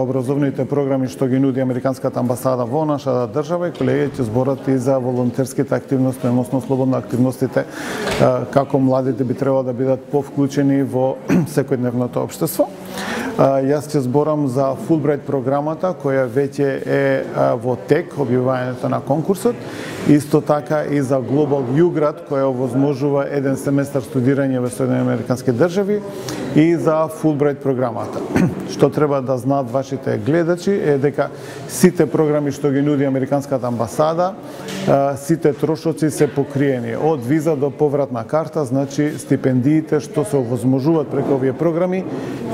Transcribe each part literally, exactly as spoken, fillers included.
Образовните програми што ги нуди Американската амбасада во нашата држава и колегите ќе зборат и за волонтерските активности, односно слободно активностите, како младите би требало да бидат повклучени во секојдневното општество. Јас ќе зборам за Fulbright програмата, која веќе е во тек, објавувањето на конкурсот, исто така и за Global U-Grad, која овозможува еден семестар студирање во Соединените американски држави, и за Fulbright програмата. Што треба да знаат вашите гледачи е дека сите програми што ги нуди Американската амбасада, сите трошоци се покриени од виза до повратна карта, значи стипендиите што се овозможуваат преку овие програми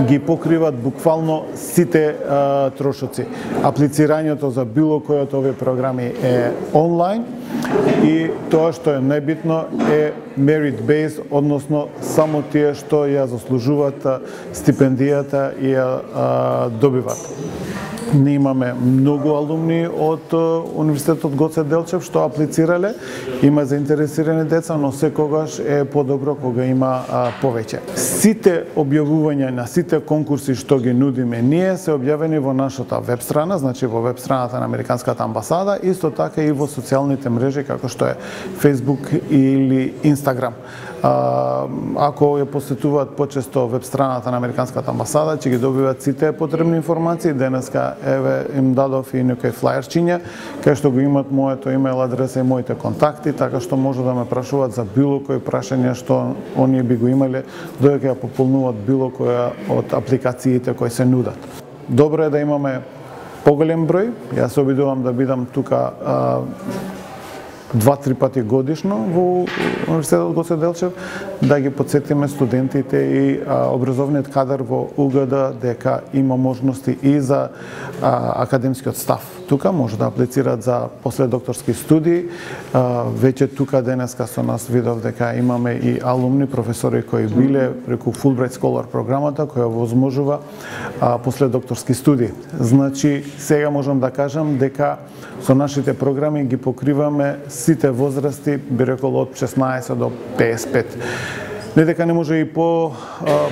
ги покриват буквално сите а, трошоци. Аплицирањето за било кој од овие програми е онлайн и тоа што е најбитно е merit based, односно само тие што ја заслужуваат стипендијата и ја а, добиват. Ние имаме многу алумни од Универзитетот Гоце Делчев што аплицирале, има заинтересирани деца, но секогаш е подобро кога има а, повеќе. Сите објавувања на сите конкурси што ги нудиме ние се објавени во нашата веб страна, значи во веб страната на Американската амбасада, исто така и во социјалните мрежи како што е Facebook или Instagram. А, ако ја посетуваат почесто веб страната на Американската амбасада, ќе ги добиваат сите потребни информации. Денеска еве им дадов и некои флајерчиња кај што го имат моето имејл адреса и моите контакти, така што може да ме прашуваат за било кои прашања што оние би го имале додека ја пополнуваат било која од апликациите кои се нудат. Добро е да имаме поголем број. Јас се обидувам да бидам тука а, два-три пати годишно во Универзитетот Гоце Делчев, да ги подсетиме студентите и а, образовниот кадар во У Г Д дека има можности и за а, академскиот став. Тука може да аплицираат за последокторски студии. А, веќе тука денеска со нас видов дека имаме и алумни професори кои биле преку Fulbright Scholar програмата која возможува а, последокторски студии. Значи, сега можам да кажам дека со нашите програми ги покриваме сите возрасти, би рекол од шеснаесет до песет и пет. Не дека не може и по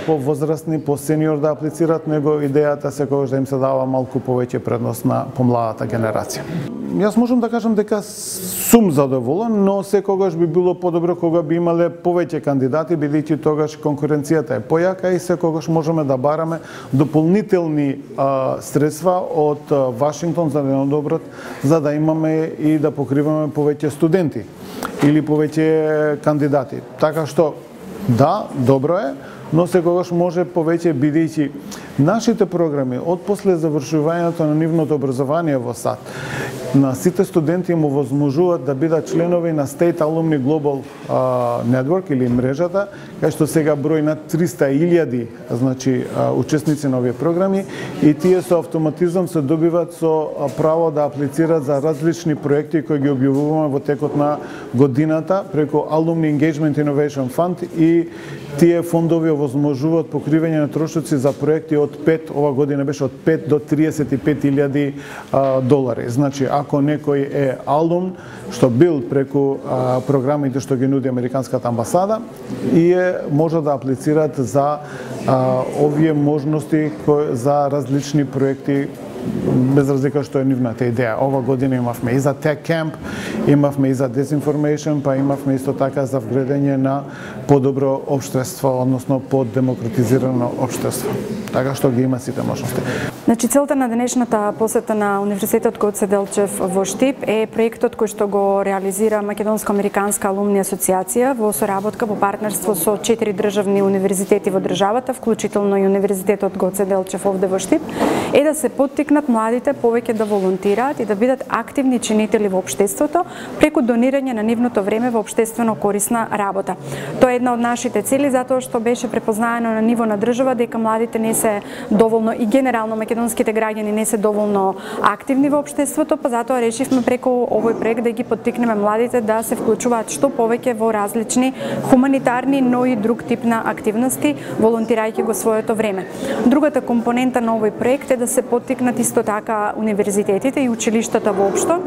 по возрастни, по сениор да аплицираат, него идејата секогаш да им се дава малку повеќе предност на помладата генерација. Јас можам да кажам дека сум задоволен, но секогаш би било подобро кога би имале повеќе кандидати, бидејќи тогаш конкуренцијата е појака и секогаш можеме да бараме дополнителни а, средства од а, Вашингтон за денодоброт, за да имаме и да покриваме повеќе студенти или повеќе кандидати. Така што да, добро е, но секогаш може повеќе, бидејќи нашите програми од после завршувањето на нивното образование во САД на сите студенти им овозможуваат да бидат членови на State Alumni Global uh, Network или мрежата, кај што сега број на триста илјади, значи uh, учесници на овие програми, и тие со автоматизам се добиваат со uh, право да аплицираат за различни проекти кои ги објавуваме во текот на годината преку Alumni Engagement Innovation Fund, и тие фондови овозможуваат покривање на трошоци за проекти од пет, ова година беше од пет до триесет и пет илјади долари. Значи, ако некој е алум, што бил преку а, програмите што ги нуди Американската амбасада, и е, може да аплицираат за а, овие можности кои, за различни проекти, без разлика што е нивната идеја. Ова година имавме и за Tech Camp, имавме и за Disinformation, па имавме исто така за вградење на подобро општество, односно поддемократизирано општество. Така што ги има сите можности. Значи, целта на денешната посета на Универзитетот Гоце Делчев во Штип е проектот кој што го реализира Македонско-американска алумни асоциација во соработка, во партнерство со четири државни универзитети во државата, вклучително и Универзитетот Гоце Делчев овде во Штип, е да се поттикнат младите повеќе да волонтираат и да бидат активни чинители во општеството преку донирање на нивното време во општествено корисна работа. Тоа е една од нашите цели, затоа што беше препознаено на ниво на држава дека младите не се доволно, и генерално македонските граѓани не се доволно активни во општеството, па затоа решивме преку овој проект да ги поттикнеме младите да се вклучуваат што повеќе во различни хуманитарни, но и друг тип на активности, волонтирајќи го своето време. Другата компонента на овој проект е да се поттикнат исто така универзитетите и училиштата воопшто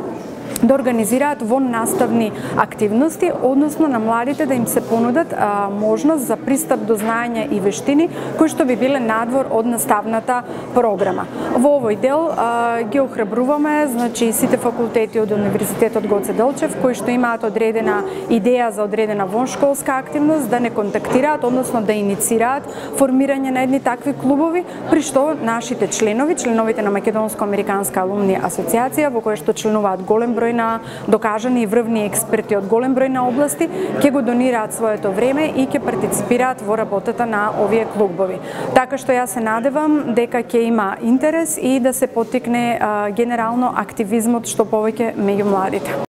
да организираат вон наставни активности, односно на младите да им се понудат а, можност за пристап до знаења и вештини кои што би биле надвор од наставната програма. Во овој дел а, ги охрабруваме, значи сите факултети од Универзитетот Гоце Делчев кои што имаат одредена идеја за одредена воншколска активност да не контактираат, односно да иницираат формирање на едни такви клубови, при што нашите членови, членовите на Македонско-американска алумни асоциација, во која што членуваат голем број на докажани и врвни експерти од голем број на области, ќе го донираат своето време и ќе партиципираат во работата на овие клубови. Така што јас се надевам дека ќе има интерес и да се поттикне а, генерално активизмот што повеќе меѓу младите.